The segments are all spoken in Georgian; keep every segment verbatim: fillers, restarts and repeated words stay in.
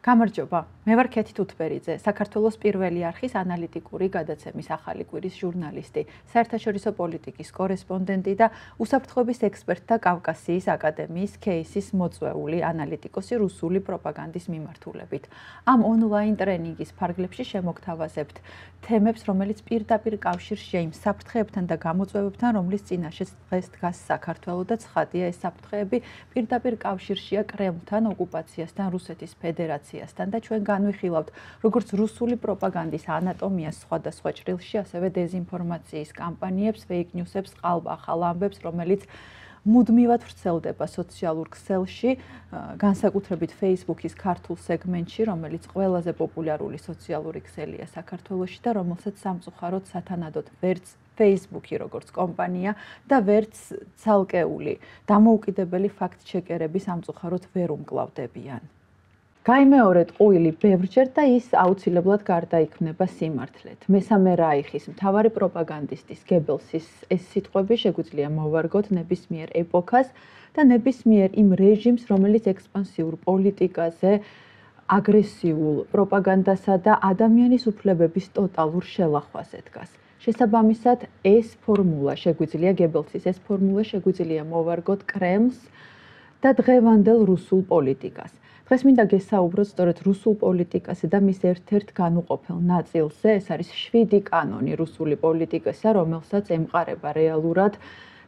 გამარჯობა, მე ვარ ქეთი თუთბერიძე, საქართველოს პირველი არხის ანალიტიკური გადაცემის ახალი კვირის ჟურნალისტი, საერთაშორისო პოლიტიკის კორესპონდენტი და უსაფრთხოების ექსპერტთა კავკასიის აკადემიის ქეისის მოწვეული ანალიტიკოსი რუსული პროპაგანდის მიმართულებით. Ამ ონლაინ ტრენინგის ფარგლებში შემოგთავაზებთ თემებს, რომელიც პირდაპირ კავშირშია იმ საფრთხეებთან და გამოწვევებთან, რომლის წინაშეც დღეს დგას საქართველო და ცხადია ეს საფრთხეები პირდაპირ კავშირშია კრემლთან, ოკუპაციასთან, რუსეთის ფედერაციასთან და ჩვენ განვიხილავთ როგორც რუსული პროპაგანდის ანატომიას სხვადასხვა ჭრილში, ასევე დეზინფორმაციის კამპანიებს, fake news-ებს, ყალბ-ახალ ამბებს, რომელიც მუდმივად ვრცელდება სოციალურ ქსელში, განსაკუთრებით Facebook-ის ქართულ სეგმენტში, რომელიც ყველაზე პოპულარული სოციალური ქსელია საქართველოში და რომელსაც სამწუხაროდ სათანადოდ ვერც Facebook-ი როგორც კომპანია და ვერც ცალკეული დამოუკიდებელი ფაქტ-ჩეკერები სამწუხაროდ ვერ უმკლავდებიან. გაიმეორეთ ყუილი ბევრჯერ და ის აუცილებლად გარდაიქმნება სიმართლედ. მესამე რაიხის მთავარი პროპაგანდისტის გებელსის ეს სიტყვები შეგვიძლია მოვარგოთ ნებისმიერ ეპოქას და ნებისმიერ იმ რეჟიმს, რომელიც ექსპანსიურ პოლიტიკაზე, აგრესიულ პროპაგანდასა და ადამიანის უფლებების ტოტალურ შელახვაზე დგას. შესაბამისად, ეს ფორმულა შეგვიძლია გებელსის ეს ფორმულა შეგვიძლია მოვარგოთ კრემლს და დღევანდელ რუსულ პოლიტიკას. დღეს მინდა გესაუბროთ სწორედ რუსულ პოლიტიკაზე და მის ერთ-ერთ განუყოფელ ნაწილზე, ეს არის შვიდი კანონი რუსული პოლიტიკისა, რომელსაც ემყარება რეალურად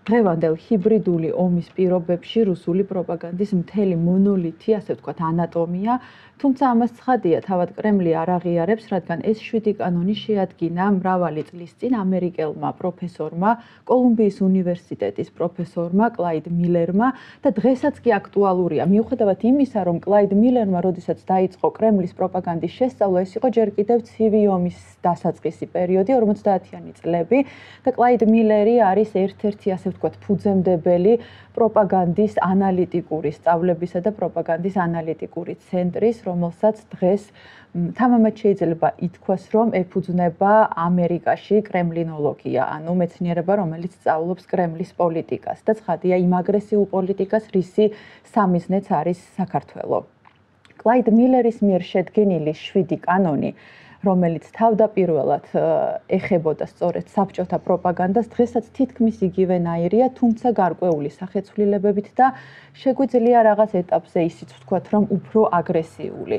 დღევანდელ ჰიბრიდული ომის პირობებში რუსული პროპაგანდის მთელი მონოლითი, ასე ვთქვათ, ანატომია, თუმცა ამას ცხადია, თავად კრემლი არ აღიარებს, რადგან ეს შვიდი კანონი შეადგინა მრავალი წლის წინ ამერიკელმა პროფესორმა, კოლუმბიის უნივერსიტეტის პროფესორმა კლაიდ მილერმა და დღესაც კი აქტუალურია. მიუხედავად იმისა, რომ კლაიდ მილერმა, როდესაც დაიწყო კრემლის პროპაგანდის შესწავლა, ეს იყო ჯერ კიდევ ცივი ომის დასაწყისი პერიოდი, ორმოცდაათიანი წლები და კლაიდ მილერი არის ერთ-ერთი, ასე ვთქვათ, ფუძემდებელი პროპაგანდის ანალიტიკური სწავლებისა და პროპაგანდის ანალიტიკური ცენტრის, რომელსაც დღეს თამამად შეიძლება ითქვას, რომ ეფუძნება ამერიკაში კრემლინოლოგია, ანუ მეცნიერება, რომელიც სწავლობს კრემლის პოლიტიკას და ცხადია იმ აგრესიულ პოლიტიკას, რისი სამიზნეც არის საქართველო. კლაიდ მილერის მიერ შედგენილი შვიდი კანონი, რომელიც თავდაპირველად ეხებოდა სწორედ საბჭოთა პროპაგანდას, დღესაც თითქმის იგივენაირია, თუმცა გარკვეული სახეცვლილებებით და შეგვიძლია რაღაც ეტაპზე ისიც ვთქვათ, რომ უფრო აგრესიული.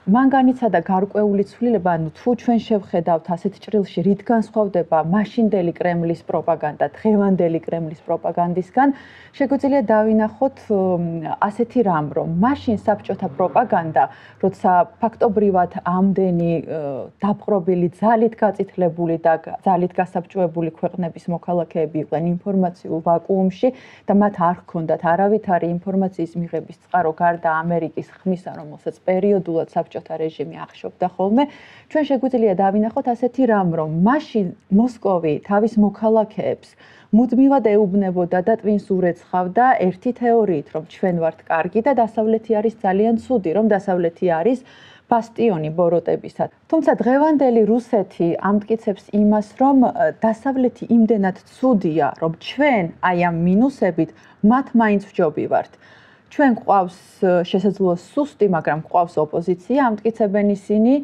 მან განიცადა გარკვეული ცვლილება, ანუ თუ ჩვენ შევხედავთ ასეთ ჭრილში, რით განსხვავდება მაშინდელი კრემლის პროპაგანდა დღევანდელი კრემლის პროპაგანდისგან, შეგვიძლია დავინახოთ ასეთი რამ, რომ მაშინ საბჭოთა პროპაგანდა, როცა ფაქტობრივად ამდენი დაპყრობილი, ძალით გაწითლებული და ძალით გასაბჭოებული ქვეყნების მოქალაქეები იყვნენ ინფორმაციულ ვაკუუმში და მათ არ ჰქონდათ არავითარი ინფორმაციის მიღების წყარო გარდა ამერიკის ხმისა, რომელსაც პერიოდულად საბჭოთა რეჟიმი ახშობდა ხოლმე, ჩვენ შეგვიძლია დავინახოთ ასეთი რამ, რომ მაშინ მოსკოვი თავის მოქალაქეებს მუდმივად ეუბნებოდა და ტვინს ურეცხავდა ერთი თეორიით, რომ ჩვენ ვართ კარგი და დასავლეთი არის ძალიან ცუდი, რომ დასავლეთი არის ბასტიონი ბოროტებისა. თუმცა დღევანდელი რუსეთი ამტკიცებს იმას, რომ დასავლეთი იმდენად ცუდია, რომ ჩვენ აი ამ მინუსებით მათ მაინც ვჯობი ვართ. ჩვენ გვყავს შესაძლოა სუსტი, მაგრამ გვყავს ოპოზიცია, ამტკიცებენ ისინი,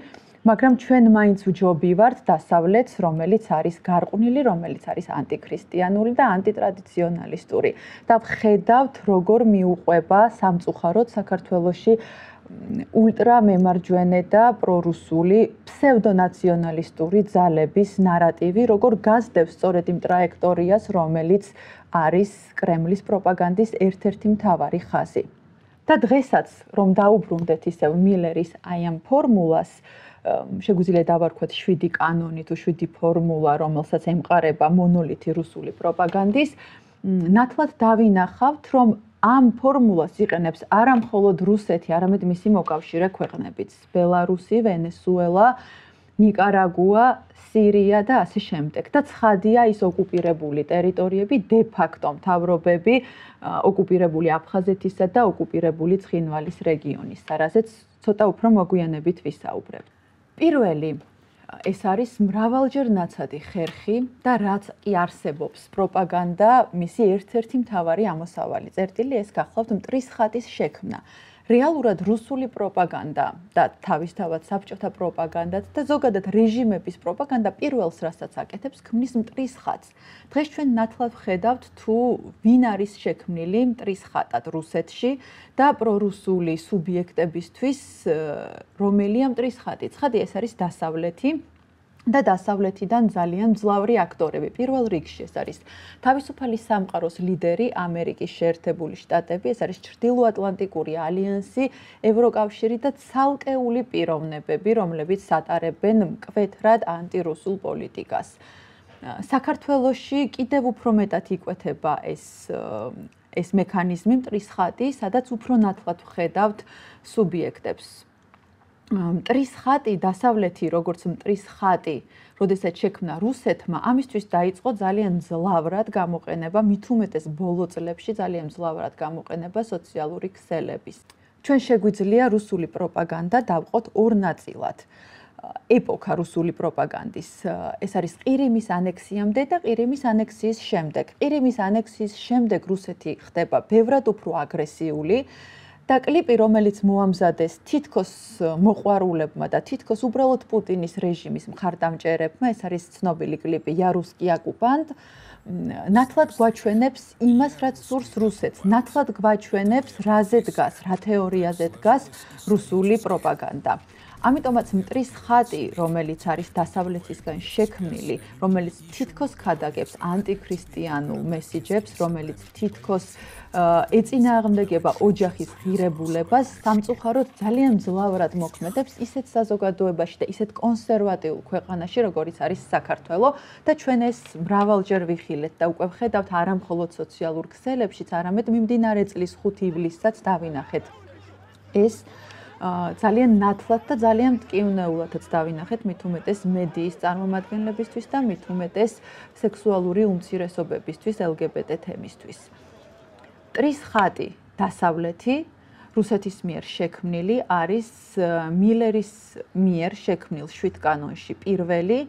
მაგრამ ჩვენ მაინც ვჯობი ვართ დასავლეთს, რომელიც არის გარყვნილი, რომელიც არის ანტიქრისტიანული და ანტიტრადიციონალისტური. და ვხედავთ, როგორ მიუყვება სამწუხაროდ საქართველოში ულტრამემარჯვენე და პრორუსული ფსევდონაციონალისტური ძალების ნარატივი, როგორ გასდევს სწორედ იმ ტრაექტორიას, რომელიც არის კრემლის პროპაგანდის ერთ-ერთი მთავარი ხაზი. და დღესაც, რომ დაუბრუნდეთ ისევ მილერის აი ამ ფორმულას, შეგვიძლია დავარქვათ შვიდი კანონი თუ შვიდი ფორმულა, რომელსაც ემყარება მონოლითი რუსული პროპაგანდის, ნათლად დავინახავთ, რომ ამ ფორმულას იყენებს არა მხოლოდ რუსეთი, არამედ მისი მოკავშირე ქვეყნებიც, ბელარუსი, ვენესუელა, ნიკარაგუა, სირია და ასე შემდეგ. და ცხადია ის ოკუპირებული ტერიტორიები, de facto მთავრობები, ოკუპირებული აფხაზეთისა და ოკუპირებული ცხინვალის რეგიონის, რაზეც ცოტა უფრო მოგვიანებით ვისაუბრებ. პირველი ეს არის მრავალჯერ ნაცადი ხერხი და რაც კი არსებობს პროპაგანდა, მისი ერთ-ერთი მთავარი ამოსავალი წერტილი ეს გახლავთ მტრის ხატის შექმნა. რეალურად რუსული პროპაგანდა და თავისთავად საბჭოთა პროპაგანდაც და ზოგადად რეჟიმების პროპაგანდა პირველს რასაც აკეთებს, ქმნის მტრის ხატს. დღეს ჩვენ ნათლად ვხედავთ თუ ვინ არის შექმნილი მტრის ხატად რუსეთში და პრორუსული სუბიექტებისთვის რომელია მტრის ხატი. ცხადი ეს არის დასავლეთი და დასავლეთიდან ძალიან მძლავრი აქტორები. პირველ რიგში ეს არის თავისუფალი სამყაროს ლიდერი ამერიკის შეერთებული შტატები, ეს არის ჩრდილოატლანტიკური ალიანსი, ევროკავშირი და ცალკეული პიროვნებები, რომლებიც ატარებენ მკვეთრად ანტირუსულ პოლიტიკას. საქართველოში კიდევ უფრო მეტად იკვეთება ეს ეს მექანიზმი მტრის ხატი, სადაც უფრო ნათლად ვხედავთ სუბიექტებს. მტრის ხატი, დასავლეთი, როგორც მტრის ხატი, როდესაც შექმნა რუსეთმა, ამისთვის დაიწყო ძალიან მძლავრად გამოყენება, მით უმეტეს ბოლო წლებში ძალიან მძლავრად გამოყენება სოციალური ქსელების. ჩვენ შეგვიძლია რუსული პროპაგანდა დავყოთ ორ ნაწილად. ეპოქა რუსული პროპაგანდის, ეს არის ყირიმის ანექსიამდე და ყირიმის ანექსიის შემდეგ. ყირიმის ანექსიის შემდეგ რუსეთი ხდება ბევრად უფრო აგრესიული. და კლიპი, რომელიც მოამზადეს თითქოს მოყვარულებმა და თითქოს უბრალოდ პუტინის რეჟიმის მხარდამჭერებმა, ეს არის ცნობილი კლიპი „Я русский оккупант“, ნათლად გვაჩვენებს იმას, რაც სურს რუსეთს, ნათლად გვაჩვენებს, რაზე დგას, რა თეორიაზე დგას რუსული პროპაგანდა. ამიტომაც მტრის ხატი, რომელიც არის დასავლეთისგან შექმნილი, რომელიც თითქოს ქადაგებს ანტიქრისტიანულ მესიჯებს, რომელიც თითქოს ეწინააღმდეგება ოჯახის ღირებულებას, სამწუხაროდ ძალიან მძლავრად მოქმედებს ისეთ საზოგადოებაში და ისეთ კონსერვატიულ ქვეყანაში, როგორიც არის საქართველო და ჩვენ ეს მრავალჯერ ვიხილეთ და უკვე ვხედავთ არა მხოლოდ სოციალურ ქსელებშიც, არამედ მიმდინარე წლის ხუთი ივლისსაც დავინახეთ. ეს ძალიან ნათლად და ძალიან მტკივნეულადაც დავინახეთ მით უმეტეს მედიის წარმომადგენლებისთვის და მით უმეტეს სექსუალური უმცირესობებისთვის, ელგებეტე თემისთვის. მტრის ხატი დასავლეთი რუსეთის მიერ შექმნილი არის მილერის მიერ შექმნილ შვიდ კანონში პირველი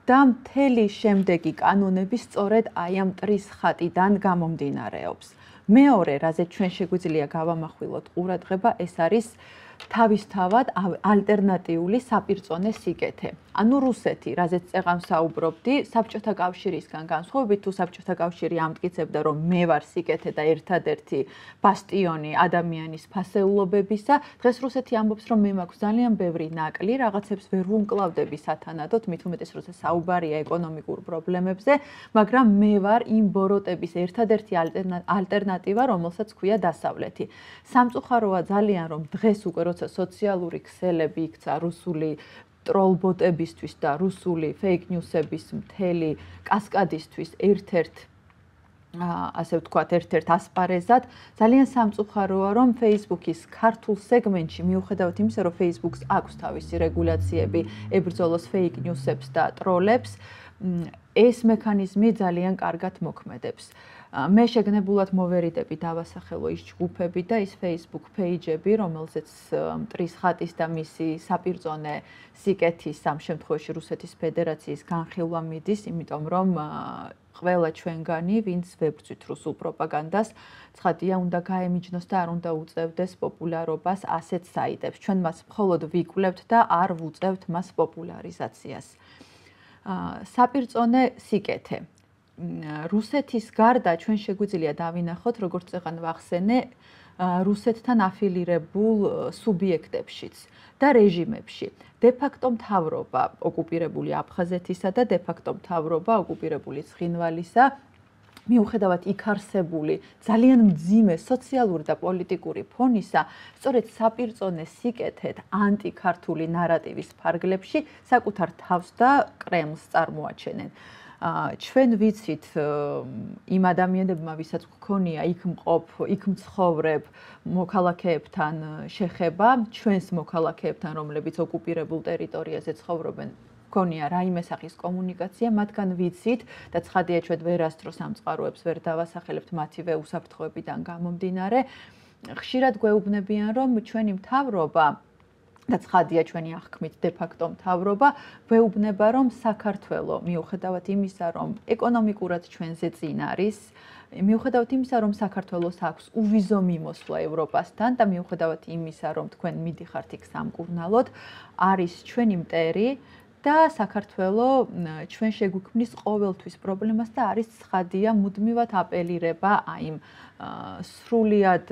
და მთელი შემდეგი კანონები სწორედ აი ამ მტრის ხატიდან გამომდინარეობს. მეორე, რაზეც ჩვენ შეგვიძლია გავამახვილოთ ყურადღება, ეს არის თავისთავად ალტერნატიული საპირწონე სიკეთე. ანუ რუსეთი, რაზეც წეღან ვსაუბრობდი, საბჭოთა კავშირისგან განსხვავებით, თუ საბჭოთა კავშირი ამტკიცებდა, რომ მე ვარ სიკეთე და ერთადერთი ბასტიონი ადამიანის ფასეულობებისა, დღეს რუსეთი ამბობს, რომ მე მაქვს ძალიან ბევრი ნაკლი, რაღაცებს ვერ ვუმკლავდები სათანადოდ, მით უმეტეს როცა საუბარია ეკონომიკურ პრობლემებზე, მაგრამ მე ვარ იმ ბოროტების ერთადერთი ალტერნატივა, რომელსაც ქვია დასავლეთი. სამწუხაროა ძალიან, რომ დღეს უკვე როცა სოციალური ქსელები იქცა რუსული ტროლბოტებისთვის და რუსული ფეიქ ნიუსების მთელი კასკადისთვის ერთ-ერთ ასე ვთქვათ, ერთ-ერთ ასპარეზად, ძალიან სამწუხაროა, რომ Facebook-ის ქართულ სეგმენტში მიუხედავად იმისა, რომ Facebook-ს აქვს თავისი რეგულაციები ებრძოლოს ფეიქ ნიუსებს და ტროლებს, ეს მექანიზმი ძალიან კარგად მოქმედებს. მე შეგნებულად მოვერიდები დავასახელო ის ჯგუფები და ის Facebook page-ები, რომელზეც მტრის ხატის და მისი საპირწონე სიკეთის ამ შემთხვევაში რუსეთის ფედერაციის განხილვა მიდის, იმიტომ რომ ყველა ჩვენგანი, ვინც ვებრძვით რუსულ პროპაგანდას, ცხადია, უნდა გაემიჯნოს და არ უნდა უწევდეს პოპულარობას ასეთ საიტებს. ჩვენ მას მხოლოდ ვიკვლევთ და არ ვუწევთ მას პოპულარიზაციას. საპირწონე სიკეთე. რუსეთის გარდა ჩვენ შეგვიძლია დავინახოთ, როგორც წეღან ვახსენე, რუსეთთან აფილირებულ სუბიექტებშიც და რეჟიმებში. დე-ფაქტო მთავრობა ოკუპირებული აფხაზეთისა და დე-ფაქტო მთავრობა ოკუპირებული ცხინვალისა, მიუხედავად იქ არსებული ძალიან მძიმე სოციალური და პოლიტიკური ფონისა, სწორედ საპირწონე სიკეთეთ ანტიქართული ნარატივის ფარგლებში საკუთარ თავს და კრემლს წარმოაჩენენ. ჩვენ ვიცით იმ ადამიანებმა, ვისაც გქონია იქ მყოფ, იქ მცხოვრებ მოქალაქეებთან შეხება, ჩვენს მოქალაქეებთან, რომლებიც ოკუპირებულ ტერიტორიაზე ცხოვრობენ, გქონია რაიმე სახის კომუნიკაცია, მათგან ვიცით და ცხადია ჩვენ ვერასდროს სამწყაროებს ვერ დავასახელებთ მათივე უსაფრთხოებიდან გამომდინარე, ხშირად გვეუბნებიან, რომ ჩვენი მთავრობა და ცხადია ჩვენი აღქმით დე-ფაქტო მთავრობა ვეუბნება, რომ საქართველო მიუხედავად იმისა, რომ ეკონომიკურად ჩვენზე წინ არის, მიუხედავად იმისა, რომ საქართველოს აქვს უვიზო მიმოსვლა ევროპასთან და მიუხედავად იმისა, რომ თქვენ მიდიხართ იქ სამკურნალოდ, არის ჩვენი მტერი და საქართველო ჩვენ შეგვიქმნის ყოველთვის პრობლემას და არის ცხადია მუდმივად აპელირება აი იმ სრულიად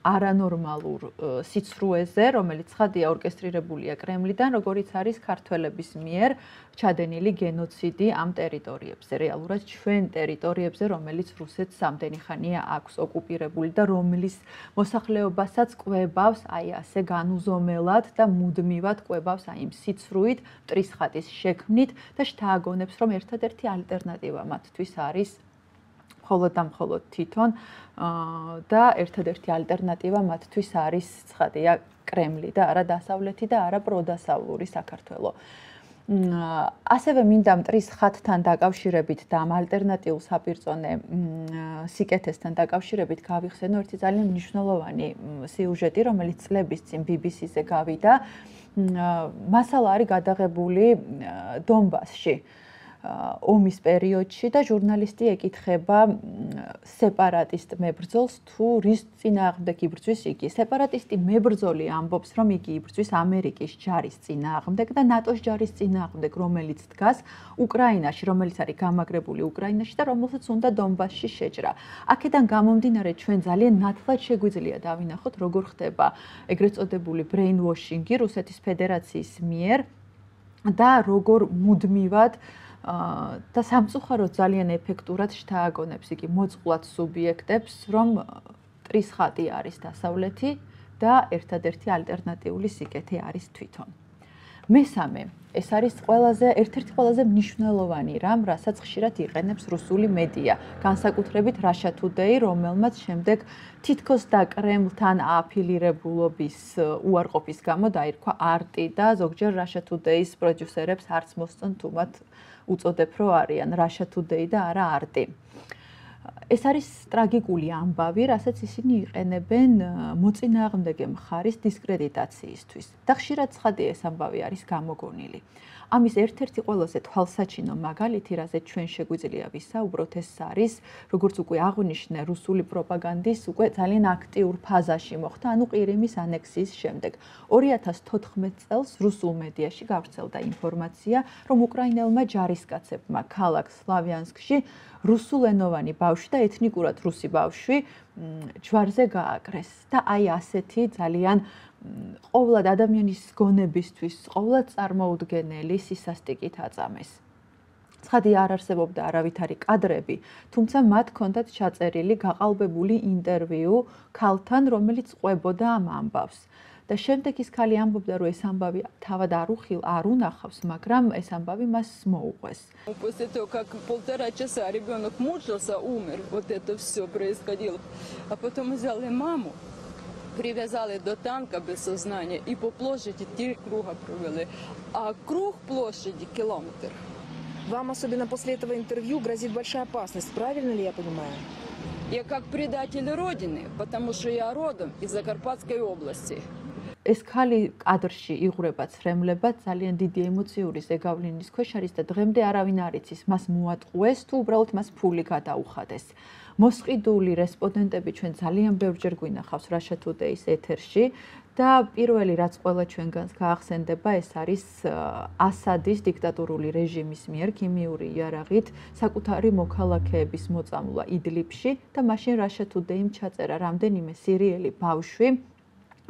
არანორმალურ სიცრუეზე, რომელიც ცხადია ორკესტრირებულია კრემლიდან, როგორიც არის ქართველების მიერ ჩადენილი გენოციდი ამ ტერიტორიებზე, რეალურად ჩვენ ტერიტორიებზე, რომელიც რუსეთს ამდენი ხანია აქვს ოკუპირებული და რომლის მოსახლეობასაც კვებავს აი ასე განუზომელად და მუდმივად კვებავს აი იმ სიცრუით, მტრის ხატის შექმნით და შთააგონებს, რომ ერთადერთი ალტერნატივა მათთვის არის მხოლოდ და მხოლოდ თვითონ და ერთადერთი ალტერნატივა მათთვის არის ცხადია კრემლი და არა დასავლეთი და არა პროდასავლური საქართველო. ასევე მინდა მტრის ხატთან დაკავშირებით და ამ ალტერნატიულ საპირწონე სიკეთესთან დაკავშირებით გავიხსენო ერთი ძალიან მნიშვნელოვანი სიუჟეტი, რომელიც წლების წინ ბი ბი სიზე გავიდა. მასალა არის გადაღებული დონბასში. ომის პერიოდში და ჟურნალისტი ეკითხება სეპარატისტ მებრძოლს თუ რის წინააღმდეგ იბრძვის იგი. სეპარატისტი მებრძოლი ამბობს, რომ იგი იბრძვის ამერიკის ჯარის წინააღმდეგ და ნატოს ჯარის წინააღმდეგ, რომელიც დგას უკრაინაში, რომელიც არის გამაგრებული უკრაინაში და რომელსაც უნდა დონბასში შეჭრა. აქედან გამომდინარე ჩვენ ძალიან ნათლად შეგვიძლია დავინახოთ, როგორ ხდება ეგრეთ წოდებული brainwashing-ი რუსეთის ფედერაციის მიერ და როგორ მუდმივად და სამწუხაროდ ძალიან ეფექტურად შთააგონებს იგი მოწყვლად სუბიექტებს, რომ მტრის ხატი არის დასავლეთი და ერთადერთი ალტერნატიული სიკეთე არის თვითონ. მესამე, ეს არის ყველაზე ერთ-ერთი ყველაზე მნიშვნელოვანი რამ, რასაც ხშირად იყენებს რუსული მედია, განსაკუთრებით Russia Today, რომელმაც შემდეგ თითქოს და კრემლთან ააფილირებულობის უარყოფის გამო დაირქვა არტი და ზოგჯერ Russia Today-ის პროდიუსერებს არც მოსწონთ თუ მათ უწოდებ, რომ არიან Russia Today და არა არტი. ეს არის ტრაგიკული ამბავი, რასაც ისინი იყენებენ მოწინააღმდეგე მხარის დისკრედიტაციისთვის. და ხშირად ცხადია ეს ამბავი არის გამოგონილი. ამის ერთ-ერთი ყველაზე თვალსაჩინო მაგალითი, რაზეც ჩვენ შეგვიძლია ვისაუბროთ, ეს არის, როგორც უკვე აღვნიშნე, რუსული პროპაგანდის უკვე ძალიან აქტიურ ფაზაში მოხდა, ანუ ყირიმის ანექსიის შემდეგ. ორი ათას თოთხმეტ წელს რუსულ მედიაში გავრცელდა ინფორმაცია, რომ უკრაინელმა ჯარისკაცებმა ქალაქ სლავიანსკში რუსულენოვანი ბავშვი და ეთნიკურად რუსი ბავშვი ჯვარზე გააკრეს და აი ასეთი ძალიან ყოვლად ადამიანის გონებისთვის ყოვლად წარმოუდგენელი სისასტიკით აწამეს. ცხადია არ არსებობდა არავითარი კადრები, თუმცა მათ ჰქონდათ ჩაწერილი გაყალბებული ინტერვიუ ქალთან, რომელიც ყვებოდა ამ ამბავს. და შემდეგ ის ქალი ამბობდა, რომ ეს ამბავი თავად არ უხილ არ უნახავს, მაგრამ ეს ამბავი მას მოუყვეს. После того, как полтора часа ребенок мучился, умер, вот это все происходило. А потом взяли маму, привязали до танка без сознания и по площади три круга провели. А круг площади километр. Вам особенно после этого интервью грозит большая опасность, правильно ли я понимаю? Я как предатель Родины, потому что я родом из Закарпатской области. ეს ქალი კადრში იღვრება ცრემლებად, ძალიან დიდი ემოციური ზეგავლენის ქვეშ არის და დღემდე არავინ არ იცის, მას მოატყუეს თუ უბრალოდ მას ფული გადაუხადეს. მოსყიდული რესპონდენტები ჩვენ ძალიან ბევრჯერ გვინახავს Russia Today-ის ეთერში და პირველი რაც ყველა ჩვენგანს გაახსენდება, ეს არის ასადის დიქტატურული რეჟიმის მიერ ქიმიური იარაღით საკუთარი მოქალაქეების მოწამვლა იდლიბში და მაშინ Russia Today-მ ჩაწერა რამდენიმე სირიელი ბავშვი,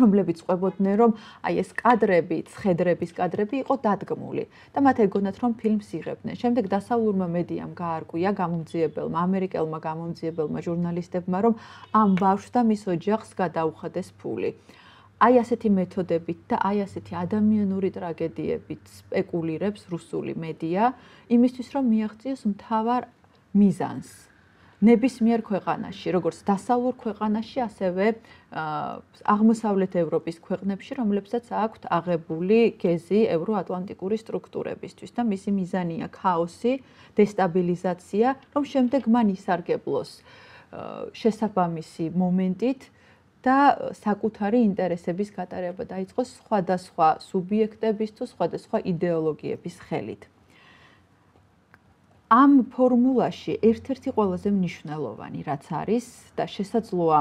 რომლებიც ყვებოდნენ, რომ აი ეს კადრები, ცხედრების კადრები იყო დადგმული და მათ ეგონათ, რომ ფილმს იღებდნენ. შემდეგ დასავლურმა მედიამ გაარკვია გამომძიებელმა, ამერიკელმა გამომძიებელმა ჟურნალისტებმა, რომ ამ ბავშვს და მის ოჯახს გადაუხადეს ფული. აი ასეთი მეთოდებით და აი ასეთი ადამიანური ტრაგედიებით სპეკულირებს რუსული მედია, იმისთვის რომ მიაღწიოს მთავარ მიზანს. ნებისმიერ ქვეყანაში, როგორც დასავლურ ქვეყანაში, ასევე აღმოსავლეთ ევროპის ქვეყნებში, რომლებსაც აქვთ აღებული გეზი ევროატლანტიკური სტრუქტურებისთვის და მისი მიზანია ქაოსი, დესტაბილიზაცია, რომ შემდეგ მან ისარგებლოს შესაბამისი მომენტით და საკუთარი ინტერესების გატარება დაიწყოს სხვადასხვა სუბიექტების თუ სხვადასხვა იდეოლოგიების ხელით. ამ ფორმულაში ერთ-ერთი ყველაზე მნიშვნელოვანი რაც არის და შესაძლოა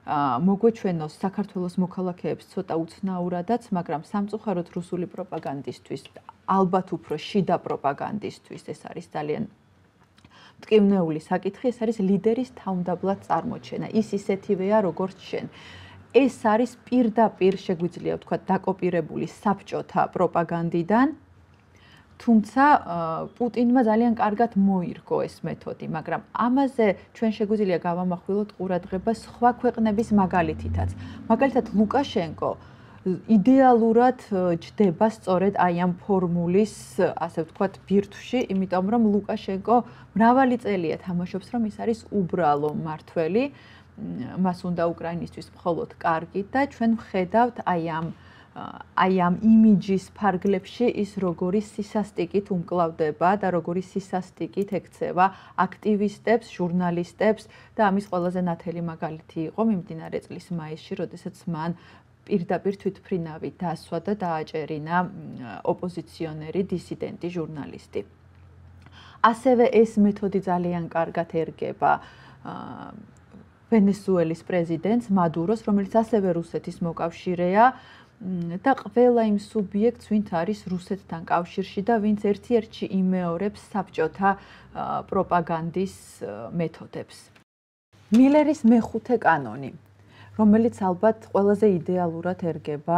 მოგვეჩვენოს საქართველოს მოქალაქეებს ცოტა უცნაურადაც, მაგრამ სამწუხაროდ რუსული პროპაგანდისტვის, ალბათ უფრო შიდა პროპაგანდისტვის ეს არის ძალიან მტკივნეული საკითხი, ეს არის ლიდერის თავმდაბლად წარმოჩენა. ის ისეთივეა, როგორც შენ. ეს არის პირდაპირ შეგვიძლია ვთქვათ დაკოპირებული საბჭოთა პროპაგანდიდან. თუმცა პუტინმა ძალიან კარგად მოირგო ეს მეთოდი, მაგრამ ამაზე ჩვენ შეგვიძლია გავამახვილოთ ყურადღება სხვა ქვეყნების მაგალითითაც. მაგალითად ლუკაშენკო იდეალურად ჯდება სწორედ აი ამ ფორმულის, ასე ვთქვათ, ბირთვში, იმიტომ რომ ლუკაშენკო მრავალი წელია თამაშობს, რომ ის არის უბრალო მმართველი, მას უნდა უკრაინისთვის მხოლოდ კარგი და ჩვენ ვხედავთ აი ამ აი ამ იმიჯის ფარგლებში ის როგორი სისასტიკით უმკლავდება და როგორი სისასტიკით ექცევა აქტივისტებს, ჟურნალისტებს და ამის ყველაზე ნათელი მაგალითი იყო მიმდინარე წლის მაისში, როდესაც მან პირდაპირ თვითმფრინავი დასვა და დააჭერინა ოპოზიციონერი, დისიდენტი, ჟურნალისტი. ასევე ეს მეთოდი ძალიან კარგად ერგება ვენესუელის პრეზიდენტს მადუროს, რომელიც ასევე რუსეთის მოკავშირეა და ყველა იმ სუბიექტს, ვინც არის რუსეთთან კავშირში და ვინც ერთ-ერთში იმეორებს საბჭოთა პროპაგანდის მეთოდებს. მილერის მეხუთე კანონი, რომელიც ალბათ ყველაზე იდეალურად ერგება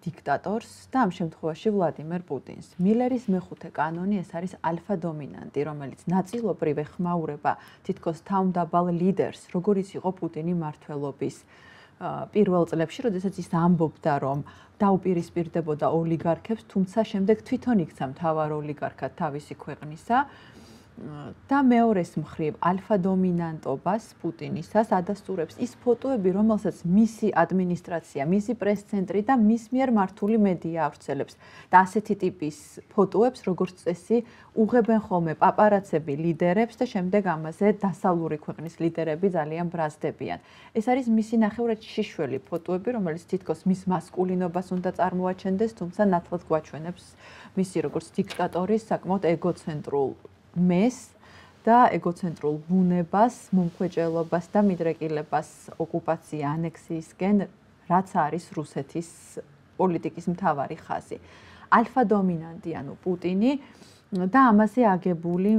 დიქტატორს და ამ შემთხვევაში ვლადიმერ პუტინს. მილერის მეხუთე კანონი ეს არის ალფა დომინანტი, რომელიც ნაწილობრივ ეხმაურება თითქოს თავმდაბალ ლიდერს, როგორიც იყო პუტინი მმართველობის პირველ წლებში, როდესაც ის ამბობდა, რომ დაუპირისპირდებოდა ოლიგარქებს, თუმცა შემდეგ თვითონ იქცა მთავარ ოლიგარქად თავისი ქვეყნისა და მეორეს მხრივ ალფა დომინანტობას პუტინისას ადასტურებს ის ფოტოები, რომელსაც მისი ადმინისტრაცია, მისი პრეს-ცენტრი და მის მიერ მართული მედია ავრცელებს და ასეთი ტიპის ფოტოებს, როგორც წესი, უღებენ ხოლმე პაპარაცები ლიდერებს და შემდეგ ამაზე დასავლური ქვეყნის ლიდერები ძალიან ბრაზდებიან. ეს არის მისი ნახევრად შიშველი ფოტოები, რომელიც თითქოს მის მასკულინობას უნდა წარმოაჩენდეს, თუმცა ნათლად გვაჩვენებს მისი როგორც დიქტატორის საკმაოდ ეგოცენტრულ მეს და ეგოცენტრულ ბუნებას, მომხვეჭელობას და მიდრეკილებას ოკუპაცია ანექსიისკენ, რაც არის რუსეთის პოლიტიკის მთავარი ხაზი. ალფა დომინანტი, ანუ პუტინი და ამაზე აგებული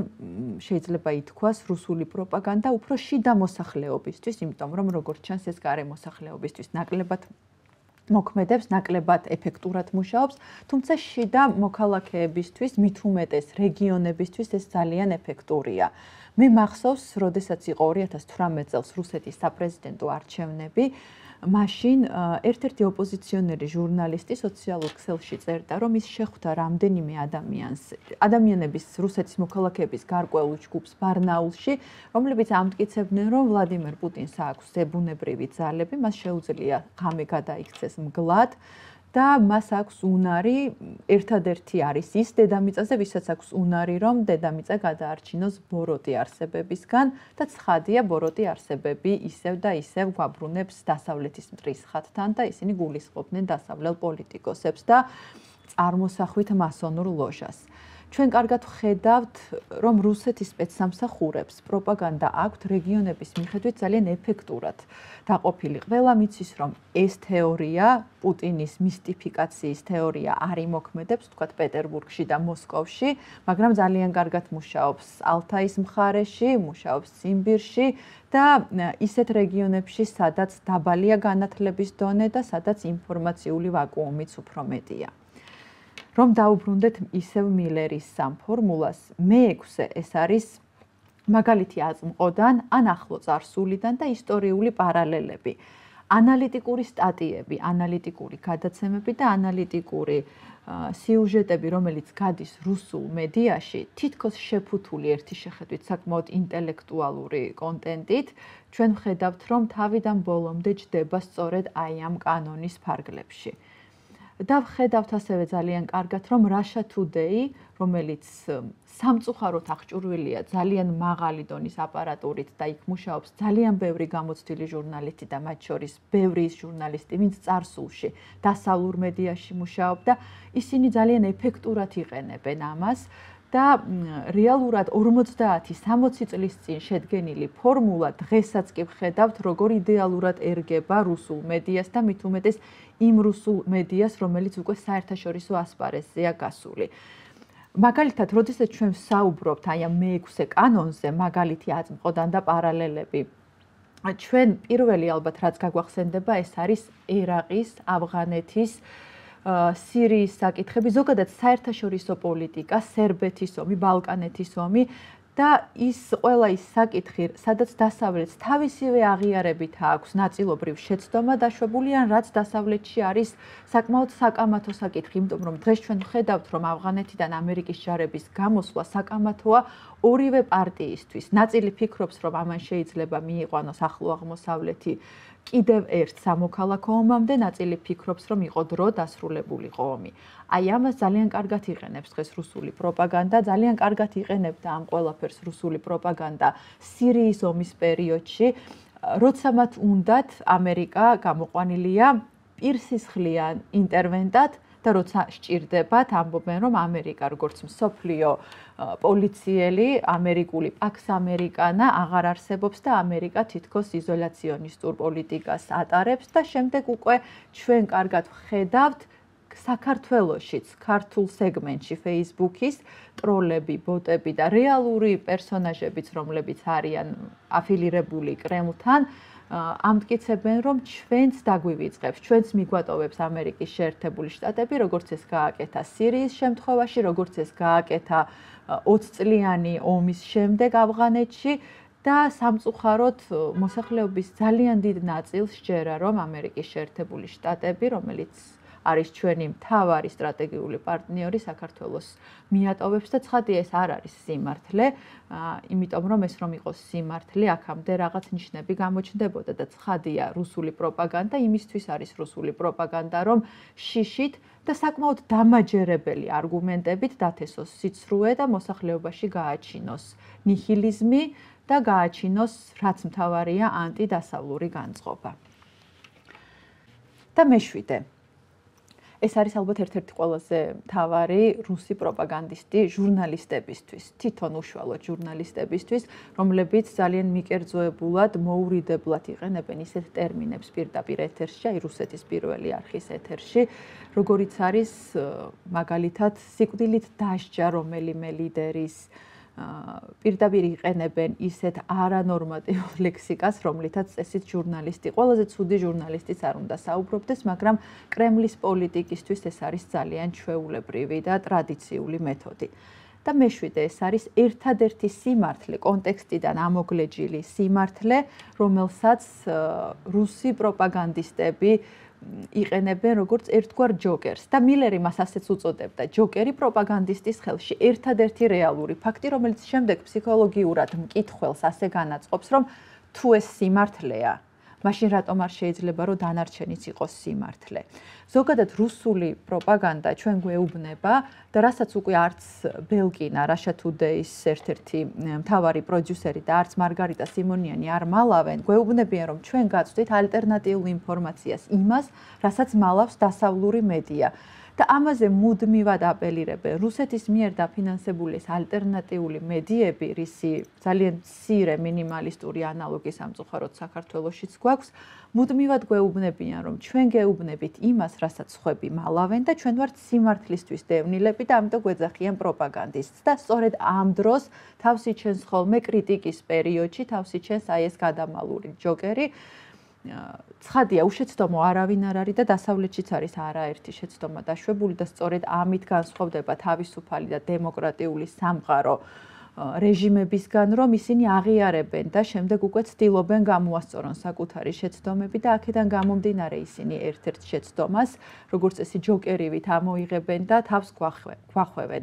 შეიძლება ითქვას რუსული პროპაგანდა უფრო შიდა მოსახლეობისთვის, იმიტომ რომ როგორც ჩანს ეს გარე მოსახლეობისთვის ნაკლებად მოქმედებს, ნაკლებად ეფექტურად მუშაობს, თუმცა შიდა მოქალაქეებისთვის, მით უმეტეს რეგიონებისთვის ეს ძალიან ეფექტურია. მე მახსოვს, როდესაც იყო ორი ათას თვრამეტ წელს რუსეთის საპრეზიდენტო არჩევნები, მაშინ ერთ-ერთი ოპოზიციონერი ჟურნალისტი სოციალურ ქსელში წერდა, რომ ის შეხვდა რამდენიმე ადამიანს, ადამიანების რუსეთის მოქალაქეების გარკვეულ ჯგუფს ბარნაულში, რომლებიც ამტკიცებდნენ, რომ ვლადიმერ პუტინს აქვს ზებუნებრივი ძალები, მას შეუძლია ღამე გადაიქცეს მგლად და მას აქვს უნარი, ერთადერთი არის ის დედამიწაზე, ვისაც აქვს უნარი, რომ დედამიწა გადაარჩინოს ბოროტი არსებებისგან და ცხადია ბოროტი არსებები ისევ და ისევ გვაბრუნებს დასავლეთის მტრისხათთან და ისინი გულისხმობდნენ დასავლელ პოლიტიკოსებს და წარმოსახვით მასონურ ლოჟას. ჩვენ კარგად ვხედავთ, რომ რუსეთის სპეცსამსახურებს პროპაგანდა აქვთ რეგიონების მიხედვით ძალიან ეფექტურად დაყოფილი. ყველამ იცის, რომ ეს თეორია, პუტინის მისტიფიკაციის თეორია არ იმოქმედებს, თქვათ პეტერბურგში და მოსკოვში, მაგრამ ძალიან კარგად მუშაობს ალთაის მხარეში, მუშაობს ციმბირში და ისეთ რეგიონებში, სადაც დაბალია განათლების დონე და სადაც ინფორმაციული ვაკუუმიც უფრო მეტია. რომ დაუბრუნდეთ ისევ მილერის სამ ფორმულას, მეექვსე ეს არის მაგალითი აწმყოდან, ან ახლო წარსულიდან და ისტორიული პარალელები. ანალიტიკური სტატიები, ანალიტიკური გადაცემები და ანალიტიკური სიუჟეტები, რომელიც გადის რუსულ მედიაში, თითქოს შეფუთული ერთი შეხედვით საკმაოდ ინტელექტუალური კონტენტით, ჩვენ ვხედავთ, რომ თავიდან ბოლომდე ჯდება სწორედ აი ამ კანონის ფარგლებში. და ვხედავთ ასევე ძალიან კარგად, რომ Russia Today, რომელიც სამწუხაროდ აღჭურვილია ძალიან მაღალი დონის აპარატურით და იქ მუშაობს ძალიან ბევრი გამოცდილი ჟურნალისტი და მათ შორის ბევრი ის ჟურნალისტი, ვინც წარსულში დასავლურ მედიაში მუშაობდა, ისინი ძალიან ეფექტურად იყენებენ ამას და რეალურად ორმოცდაათი სამოცი წლის წინ შედგენილი ფორმულა დღესაც კი ვხედავთ, როგორ იდეალურად ერგება რუსულ მედიას და მით უმეტეს იმ რუსულ მედიას, რომელიც უკვე საერთაშორისო ასპარეზზეა გასული. მაგალითად, როდესაც ჩვენ ვსაუბრობთ აი ამ მეექვსე კანონზე, მაგალითი აწმყოდან და პარალელები, ჩვენ პირველი ალბათ რაც გაგვახსენდება, ეს არის ერაყის, ავღანეთის, სირიის საკითხები, ზოგადად საერთაშორისო პოლიტიკა, სერბეთის ომი, ბალკანეთის ომი და ის ყველა ის საკითხი, სადაც დასავლეთს თავისივე აღიარებით აქვს ნაწილობრივ შეცდომა დაშვებული, ან რაც დასავლეთში არის საკმაოდ საკამათო საკითხი, იმიტომ რომ დღეს ჩვენ ვხედავთ, რომ ავღანეთიდან ამერიკის ჯარების გამოსვლა საკამათოა ორივე პარტიისთვის. ნაწილი ფიქრობს, რომ ამან შეიძლება მიიყვანოს ახლო აღმოსავლეთი კიდევ ერთ სამოქალაქო ომამდე, ნაწილი ფიქრობს, რომ იყო დრო დასრულებულიყო ომი. აი ამას ძალიან კარგად იყენებს დღეს რუსული პროპაგანდა, ძალიან კარგად იყენებდა ამ ყველაფერს რუსული პროპაგანდა სირიის ომის პერიოდში, როცა მათ უნდათ ამერიკა გამოყვანილია პირსისხლიან ინტერვენტად და როცა სჭირდებათ, ამბობენ, რომ ამერიკა როგორც მსოფლიო პოლიციელი, ამერიკული პაქს ამერიკანა აღარ არსებობს და ამერიკა თითქოს იზოლაციონისტურ პოლიტიკას ატარებს და შემდეგ უკვე ჩვენ კარგად ვხედავთ საქართველოშიც, ქართულ სეგმენტში Facebook-ის ტროლები, ბოტები და რეალური პერსონაჟებიც, რომლებიც არიან αφილირებული კრემლთან, ამტკიცებენ, რომ ჩვენც დაგვივიწყებს, ჩვენც მიგვატოვებს ამერიკის შეერთებული შტატები, როგორც ეს გააკეთა სირიის შემთხვევაში, როგორც ეს გააკეთა ოცწლიანი ომის შემდეგ ავღანეთში და სამწუხაროდ მოსახლეობის ძალიან დიდ ნაწილს სჯერა, რომ ამერიკის შეერთებული შტატები, რომელიც არის ჩვენი მთავარი სტრატეგიული პარტნიორი საქართველოს მიატოვებს და ცხადია ეს არ არის სიმართლე, იმიტომ რომ ეს რომ იყოს სიმართლე, აქამდე რაღაც ნიშნები გამოჩნდებოდა და ცხადია რუსული პროპაგანდა იმისთვის არის რუსული პროპაგანდა, რომ შიშით და საკმაოდ დამაჯერებელი არგუმენტებით დათესოს სიცრუე და მოსახლეობაში გააჩინოს ნიჰილიზმი და გააჩინოს რაც მთავარია ანტიდასავლური განწყობა. და მეშვიდე ეს არის ალბათ ერთ-ერთი ყველაზე მთავარი რუსი პროპაგანდისტი ჟურნალისტებისთვის, თვითონ უშუალოდ ჟურნალისტებისთვის, რომლებიც ძალიან მიკერძოებულად, მოურიდებლად იყენებენ ისეთ ტერმინებს პირდაპირ ეთერში, აი რუსეთის პირველი არხის ეთერში, როგორიც არის მაგალითად სიკვდილით დასჯა რომელიმე ლიდერის პირდაპირ იყენებენ ისეთ არანორმატიულ ლექსიკას, რომლითაც წესით ჟურნალისტი, ყველაზე ცუდი ჟურნალისტიც არ უნდა საუბრობდეს, მაგრამ კრემლის პოლიტიკისთვის ეს არის ძალიან ჩვეულებრივი და ტრადიციული მეთოდი. და მეშვიდე ეს არის ერთადერთი სიმართლე, კონტექსტიდან ამოგლეჯილი სიმართლე, რომელსაც რუსი პროპაგანდისტები იყენებენ როგორც ერთგვარ ჯოკერს და მილერი მას ასეც უწოდებდა ჯოკერი პროპაგანდისტის ხელში ერთადერთი რეალური ფაქტი რომელიც შემდეგ ფსიქოლოგიურად მკითხველს ასე განაწყობს რომ თუ ეს სიმართლეა მაშინ რატომ არ შეიძლება რომ დანარჩენიც იყოს სიმართლე ზოგადად რუსული პროპაგანდა ჩვენ გვეუბნება და რასაც უკვე არც ბელკინა Russia Today-ის ერთ-ერთი მთავარი პროდიუსერი და არც მარგარიტა სიმონიანი არ მალავენ გვეუბნებიან რომ ჩვენ გაწვდით ალტერნატიულ ინფორმაციას იმას რასაც მალავს დასავლური მედია და ამაზე მუდმივად აპელირებენ რუსეთის მიერ დაფინანსებული ეს ალტერნატიული მედიები, რისი ძალიან მცირე მინიმალისტური ანალოგი სამწუხაროდ საქართველოშიც გვაქვს, მუდმივად გვეუბნებიან, რომ ჩვენ გეუბნებით იმას, რასაც სხვები მალავენ და ჩვენ ვართ სიმართლისთვის დევნილები და ამიტომ გვეძახიან პროპაგანდისტს და სწორედ ამ დროს თავს იჩენს ხოლმე კრიტიკის პერიოდში, თავს იჩენს აი ეს გადამალური ჯოკერი ცხადია, უშეცდომო არავინ არ არის და დასავლეთშიც არის არაერთი შეცდომა დაშვებული და სწორედ ამით განსხვავდება თავისუფალი და დემოკრატიული სამყარო რეჟიმებისგან, რომ ისინი აღიარებენ და შემდეგ უკვე ცდილობენ გამოასწორონ საკუთარი შეცდომები და აქედან გამომდინარე ისინი ერთ-ერთ შეცდომას, როგორც წესი ჯოკერივით ამოიღებენ და თავს გვახვევენ.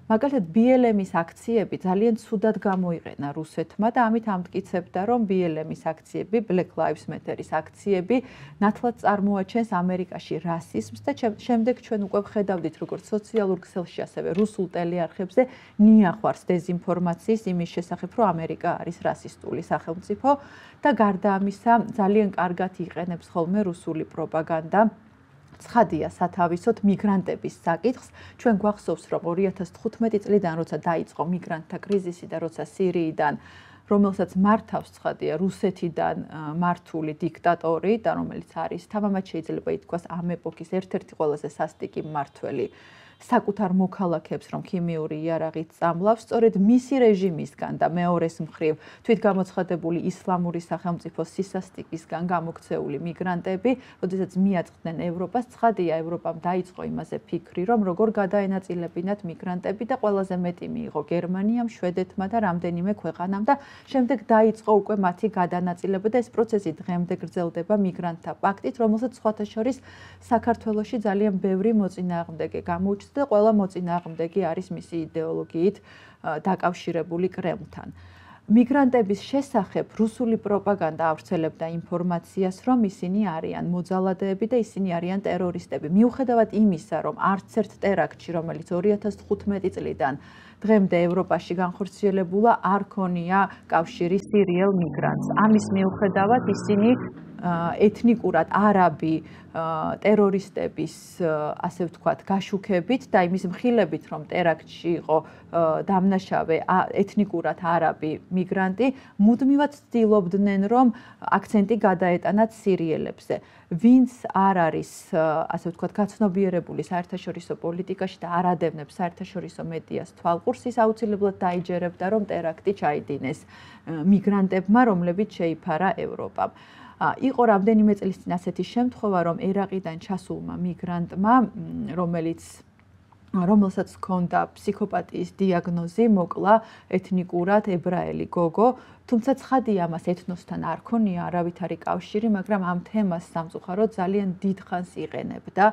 მაგალითად ბი ელ ემ-ის აქციები ძალიან ცუდად გამოიყენა რუსეთმა და ამით ამტკიცებდა, რომ ბი ელ ემ-ის აქციები, Black Lives Matter-ის აქციები ნათლად წარმოაჩენს ამერიკაში რასიზმს და შემდეგ ჩვენ უკვე ვხედავდით, როგორც სოციალურ ქსელში, ასევე რუსულ ტელეარხებზე ნიახვარს დეზინფორმაციის იმის შესახებ, რომ ამერიკა არის რასისტული სახელმწიფო და გარდა ამისა ძალიან კარგად იყენებს ხოლმე რუსული პროპაგანდა ცხადია სათავისოდ მიგრანტების საკითხს. ჩვენ გვახსოვს, რომ ორი ათას თხუთმეტი წლიდან, როცა დაიწყო მიგრანტთა კრიზისი და როცა სირიიდან, რომელსაც მართავს ცხადია რუსეთიდან მართული დიქტატორი და რომელიც არის თამამად შეიძლება ითქვას ამ ეპოქის ერთ-ერთი ყველაზე სასტიკი მმართველი, საკუთარ მოქალაქეებს რომ ქიმიური იარაღით წამლავს, სწორედ მისი რეჟიმისგან და მეორეს მხრივ თვითგამოცხადებული ისლამური სახელმწიფოს სისასტიკისგან გამოქცეული მიგრანტები, როდესაც მიაწყდნენ ევროპას, ცხადია ევროპამ დაიწყო იმაზე ფიქრი, რომ როგორ გადაენაწილებინათ მიგრანტები და ყველაზე მეტი მიიღო გერმანიამ, შვედეთმა და რამდენიმე ქვეყანამ და შემდეგ დაიწყო უკვე მათი გადანაწილება და ეს პროცესი დღემდე გრძელდება მიგრანტთა პაქტით, რომელსაც სხვათა შორის საქართველოში ძალიან ბევრი მოწინააღმდეგე გამოუჩნდა და ყველა მოწინააღმდეგე არის მისი იდეოლოგიით დაკავშირებული კრემლთან. მიგრანტების შესახებ რუსული პროპაგანდა ავრცელებდა ინფორმაციას, რომ ისინი არიან მოძალადეები და ისინი არიან ტერორისტები. მიუხედავად იმისა, რომ არც ერთ ტერაქტში, რომელიც ორი ათას თხუთმეტი წლიდან დღემდე ევროპაში განხორციელებულა, არ ქონია კავშირი სირიელ მიგრანტს. ამის მიუხედავად ისინი ეთნიკურად არაბი ტერორისტების, ასე ვთქვათ, გაშუქებით და იმის მხილებით, რომ ტერაქტში იყო დამნაშავე ეთნიკურად არაბი მიგრანტი, მუდმივად ცდილობდნენ, რომ აქცენტი გადაეტანათ სირიელებზე. ვინც არ არის, ასე ვთქვათ, გაცნობიერებული საერთაშორისო პოლიტიკაში და არ ადევნებს საერთაშორისო მედიას თვალყურს, ის აუცილებლად დაიჯერებდა, რომ ტერაქტი ჩაიდინეს მიგრანტებმა, რომლებიც შეიფარა ევროპამ. იყო რამდენიმე წლის წინ ასეთი შემთხვევა, რომ ერაყიდან ჩასულმა მიგრანტმა, რომელიც რომელსაც ჰქონდა ფსიქოპატიის დიაგნოზი, მოკლა ეთნიკურად ებრაელი გოგო, თუმცა ცხადია ამას ეთნოსთან არ ქონია არავითარი კავშირი, მაგრამ ამ თემას სამწუხაროდ ძალიან დიდხანს იყენებდა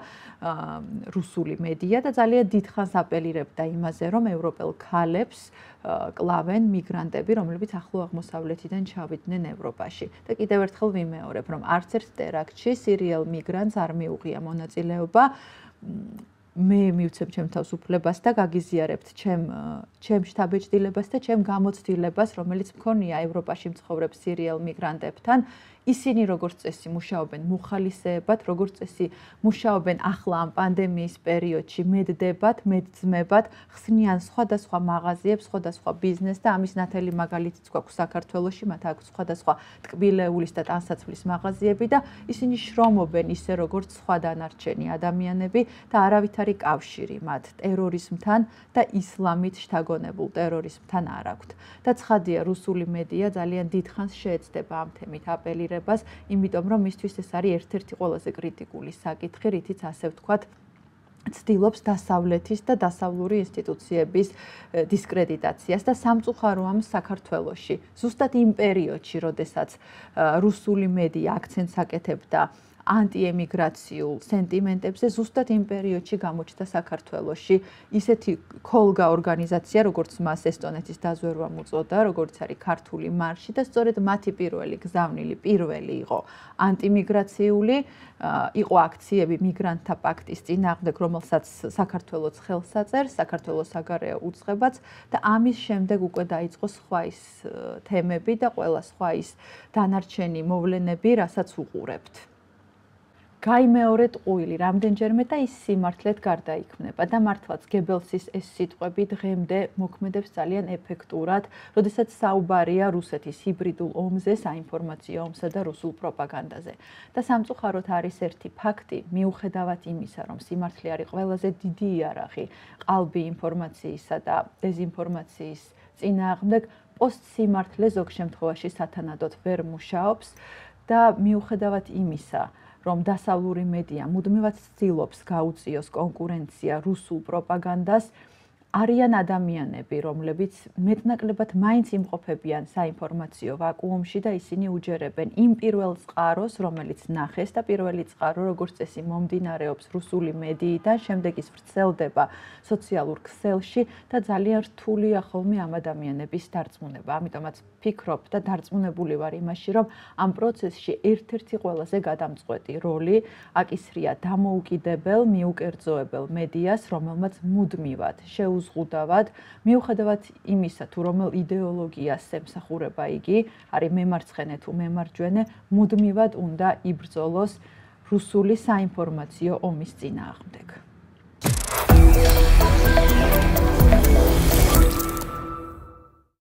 რუსული მედია და ძალიან დიდხანს აპელირებდა იმაზე, რომ ევროპელ ქალებს კლავენ მიგრანტები, რომლებიც ახლო აღმოსავლეთიდან ჩავიდნენ ევროპაში. და კიდევ ერთხელ ვიმეორებ, რომ არც ერთ ტერაქტში სირიელ მიგრანტს არ მიუღია მონაწილეობა. მე მივცემ ჩემ თავისუფლებას და გაგიზიარებთ ჩემ ჩემ შტაბ-ბიჭდილებას და ჩემ გამოცდილებას, რომელიც მქონია ევროპაში მცხოვრებ სირიელ მიგრანტებთან. ისინი როგორც წესი მუშაობენ მუხალისეებად, როგორც წესი მუშაობენ ახლა ამ პანდემიის პერიოდში მედდებად, მედძმებად, ხსნიან სხვადასხვა მაღაზიებს, სხვადასხვა ბიზნესს და ამის ნათელი მაგალითიც გვაქვს საქართველოში, მათ აქვს სხვადასხვა ტკბილეულის და ტანსაცმლის მაღაზიები და ისინი შრომობენ ისე როგორც სხვა დანარჩენი ადამიანები და არავითარი კავშირი მათ ტერორიზმთან და ისლამით შთაგონებულ ტერორიზმთან არ აქვთ. და ცხადია, რუსული მედია ძალიან დიდხანს შეეცდება ამ თემით აპელირებას, იმიტომ რომ მისთვის ეს არის ერთ-ერთი ყველაზე კრიტიკული საკითხი, რითიც ასე ვთქვათ, ცდილობს დასავლეთის და დასავლური ინსტიტუციების დისკრედიტაციას და სამწუხაროა საქართველოში. ზუსტად იმ პერიოდში, როდესაც რუსული მედია აქცენტს აკეთებდა ანტიემიგრაციულ სენტიმენტებზე, ზუსტად იმ პერიოდში გამოჩნდა საქართველოში ისეთი ქოლგა ორგანიზაცია, როგორც მას ესტონეთის დაზვერვა მოწოდა, როგორც არის ქართული მარში და სწორედ მათი პირველი გზავნილი პირველი იყო ანტიმიგრაციული, იყო აქციები მიგრანტთა პაქტის წინააღმდეგ, რომელსაც საქართველოს ხელს აწერს, საქართველოს საგარეო უწყებაც და ამის შემდეგ უკვე დაიწყო სხვა ის თემები და ყველა სხვა ის დანარჩენი მოვლენები, რასაც უყურებთ. გაიმეორეთ ყუილი რამდენჯერმე და ის სიმართლედ გარდაიქმნება და მართლაც გებელსის ეს სიტყვები დღემდე მოქმედებს ძალიან ეფექტურად, როდესაც საუბარია რუსეთის ჰიბრიდულ ომზე, საინფორმაციო ომსა და რუსულ პროპაგანდაზე. და სამწუხაროდ არის ერთი ფაქტი, მიუხედავად იმისა, რომ სიმართლე არის ყველაზე დიდი იარაღი ყალბი ინფორმაციისა და დეზინფორმაციის წინააღმდეგ, პოსტსიმართლე ზოგ შემთხვევაში სათანადოდ ვერ მუშაობს და მიუხედავად იმისა, რომ დასავლური მედია მუდმივად ცდილობს გაუწიოს კონკურენცია რუსულ პროპაგანდას, არიან ადამიანები, რომლებიც მეტნაკლებად მაინც იმყოფებიან საინფორმაციო ვაკუუმში და ისინი უჯერებენ იმ პირველ წყაროს, რომელიც ნახეს და პირველი წყარო, როგორც წესი, მომდინარეობს რუსული მედიიდან, შემდეგ ის ვრცელდება სოციალურ ქსელში და ძალიან რთულია ხოლმე ამ ადამიანების დარწმუნება. ამიტომაც ფიქრობ და დარწმუნებული ვარ იმაში, რომ ამ პროცესში ერთ-ერთი ყველაზე გადამწყვეტი როლი აკისრია დამოუკიდებელ, მიუკერძოებელ მედიას, რომელმაც მუდმივად შეუზღუდავად, მიუხედავად იმისა, თუ რომელ იდეოლოგიას ემსახურება იგი, არის მემარცხენე თუ მემარჯვენე, მუდმივად უნდა იბრძოლოს რუსული საინფორმაციო ომის წინააღმდეგ.